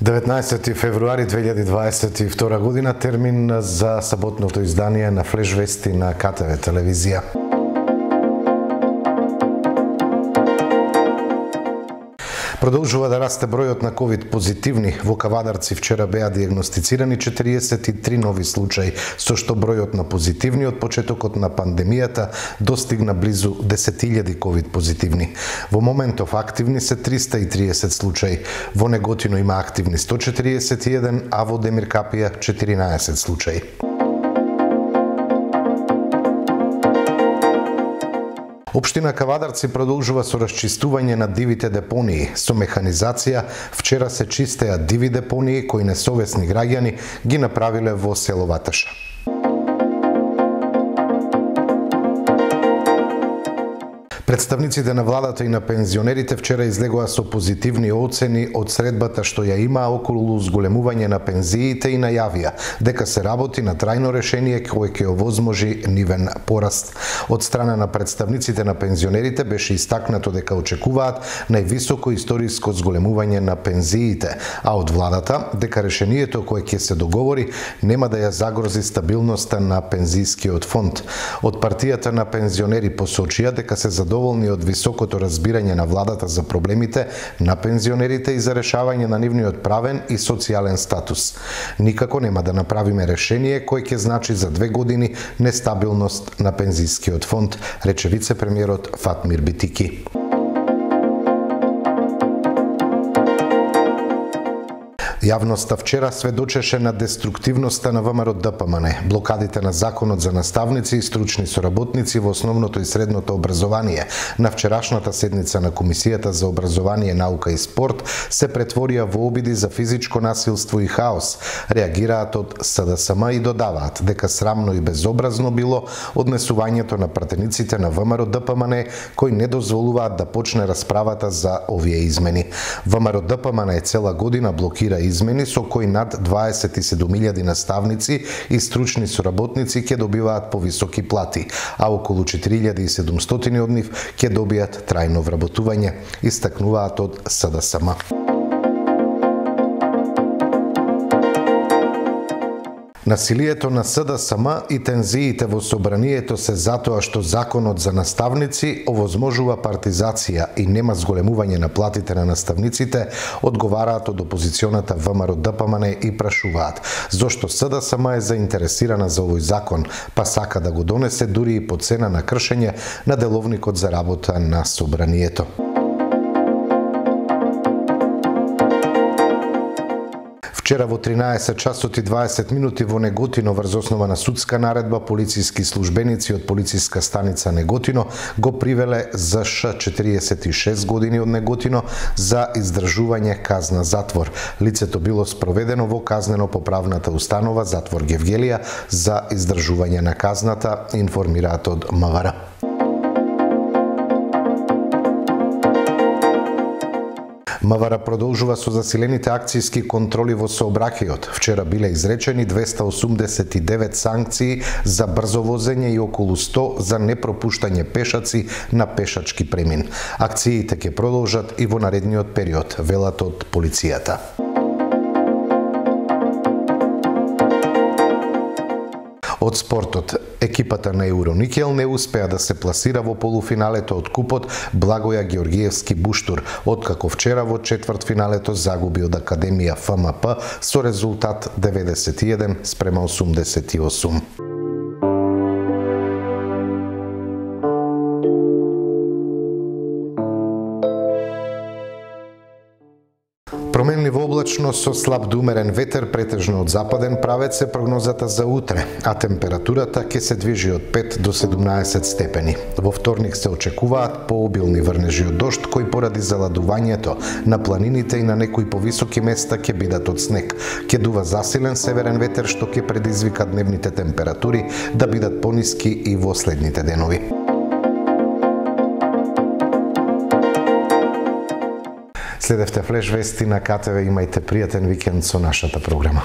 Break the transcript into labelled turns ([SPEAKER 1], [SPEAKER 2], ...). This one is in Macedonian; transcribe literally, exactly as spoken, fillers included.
[SPEAKER 1] деветнаесети февруари две илјади дваесет и втора година, термин за саботното издание на Флеш вести на К Т В телевизија. Продолжува да расте бројот на ковид позитивни. Во Кавадарци вчера беа диагностицирани четириесет и три нови случаи, со што бројот на позитивни од почетокот на пандемијата достигна близу десет илјади ковид позитивни. Во моментов активни се триста и триесет случаи. Во Неготино има активни сто четириесет и еден, а во Демиркапија четиринаесет случаи. Општина Кавадарци продолжува со расчистување на дивите депонии. Со механизација вчера се чистеа диви депонии кои несовесни граѓани ги направиле во село Ваташа. Представниците на владата и на пензионерите вчера излегоа со позитивни оцени од средбата што ја има околу зголемување на пензиите и најавија дека се работи на трајно решение кое ќе овозможи нивен пораст. Од страна на представниците на пензионерите беше истакнато дека очекуваат највисоко историско зголемување на пензиите, а од владата дека решението кое ќе се договори нема да ја загрози стабилноста на пензискиот фонд. Од партијата на пензионери посочија дека се задоволни од високото разбирање на владата за проблемите на пензионерите и за решавање на нивниот правен и социјален статус. Никако нема да направиме решение кое ќе значи за две години нестабилност на пензискиот фонд, рече вице-премиерот Фатмир Битики. Јавноста вчера сведочеше на деструктивноста на Вэ Ем Ар Д П М Н, блокадите на законот за наставници и стручни соработници во основното и средното образование. На вчерашната седница на Комисијата за образование, наука и спорт се претворија во обиди за физичко насилство и хаос. Реагираат од С Д С М и додаваат дека срамно и безобразно било однесувањето на пратениците на Вэ Ем Ар Д П М Н кои не дозволуваат да почне расправата за овие измени. Вэ Ем Ар Д П М Н цела година блокира измени со кои над дваесет и седум илјади наставници и стручни соработници ќе добиваат повисоки плати, а околу четири илјади и седумстотини од нив ќе добијат трајно вработување, истакнуваат од С Д С М. Насилието на С Д С М и тензиите во собранието се затоа што законот за наставници овозможува партизација и нема зголемување на платите на наставниците, одговараат од опозиционата Вэ Ем Ар Д П М Н и прашуваат зошто С Д С М е заинтересирана за овој закон, па сака да го донесе дури и по цена на кршење на деловникот за работа на собранието. Вчера во тринаесет часот и дваесет минути во Неготино врз основа на судска наредба полициски службеници од полициска станица Неготино го привеле З Ш четириесет и шест години од Неготино за издржување казна затвор. Лицето било спроведено во казнено-поправната установа Затвор Гевгелија за издржување на казната, информираат од М В Р. М В Р продолжува со засилените акцијски контроли во сообраќајот. Вчера биле изречени двеста осумдесет и девет санкции за брзо возење и околу сто за непропуштање пешаци на пешачки премин. Акциите ќе продолжат и во наредниот период, велат од полицијата. Од спортот, екипата на Евроникел не успеа да се пласира во полуфиналето од купот Благоја Георгиевски Буштур, откако вчера во четвртфиналето загуби од Академија Ф М П со резултат деветдесет и еден спрема осумдесет и осум. Променливо облачно со слаб до умерен ветер, претежно од западен правец е прогнозата за утре, а температурата ќе се движи од пет до седумнаесет степени. Во вторник се очекуваат пообилни врнежи од дожд кои поради заладувањето на планините и на некои повисоки места ќе бидат од снег. Ќе дува засилен северен ветер што ќе предизвика дневните температури да бидат пониски и во следните денови. Следевте Флеш вести на К Т В, имајте пријатен викенд со нашата програма.